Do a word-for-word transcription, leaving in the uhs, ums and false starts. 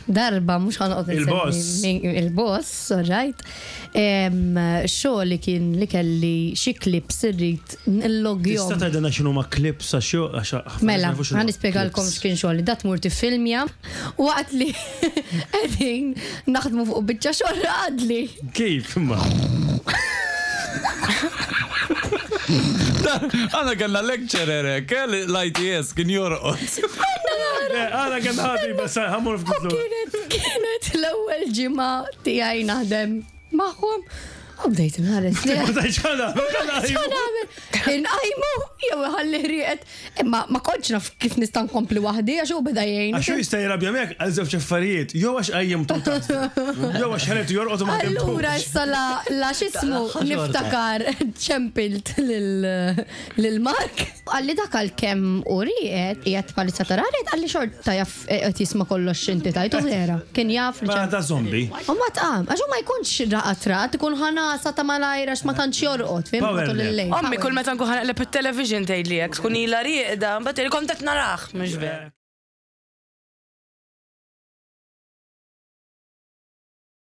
Darba, mhux ħa noqgħod Il-boss. insemmi min- Il-boss, right. Xogħol li kien li kelli xi clips irrid nillogjhom. Tista' tgħidilna x'inhu ma clips għax xo- għax ħafna Mela, nies ma jafux ħa x'inhu nispjegalkom clips. x'kien xogħol. Dat mur tiffilmja waqt li qegħdin naħdmu fuq biċċa xogħol għadli. Kif imma? Għana kellna lecturer hekk, eh, l-I T S kien jorqod. Għana kien ħabi, bas ħa mmur U ftit. kienet kienet l-ewwel ġimgħa tiegħi naħdem magħhom. U bdejt nħares li. Ma tajx ħana, ma X'ħa nagħmel? Inqajmu jew ħalli rieqed. Imma ma kontx naf kif nista' nkompli waħdi għax hu beda jgħin. Għax hu jista' jirabja miegħek għal żewġ affarijiet, jew għax qajjimtu jew għax ħaretu jorqod u ma Allura ħdimtux. issa la la x'ismu niftakar ċempilt lil Mark. Qalli dak għal kemm u rieqed qiegħed palissa tara rieqed, qalli xorta jaf qed jisma' kollox inti tajtu vera. Kien jaf li Ma ċem- ta' zombie. U ma tqam, għax hu ma jkunx raqat raqat, ikun ħanasa ta' malajra għax ma tantx jorqod, fim Power matul nap. il-lejl. Ommi kull meta nkun ħa naqleb it-television tgħidli hekk, tkun ilha rieqda, mbagħad tgħidli kont qed narah, mhux vera.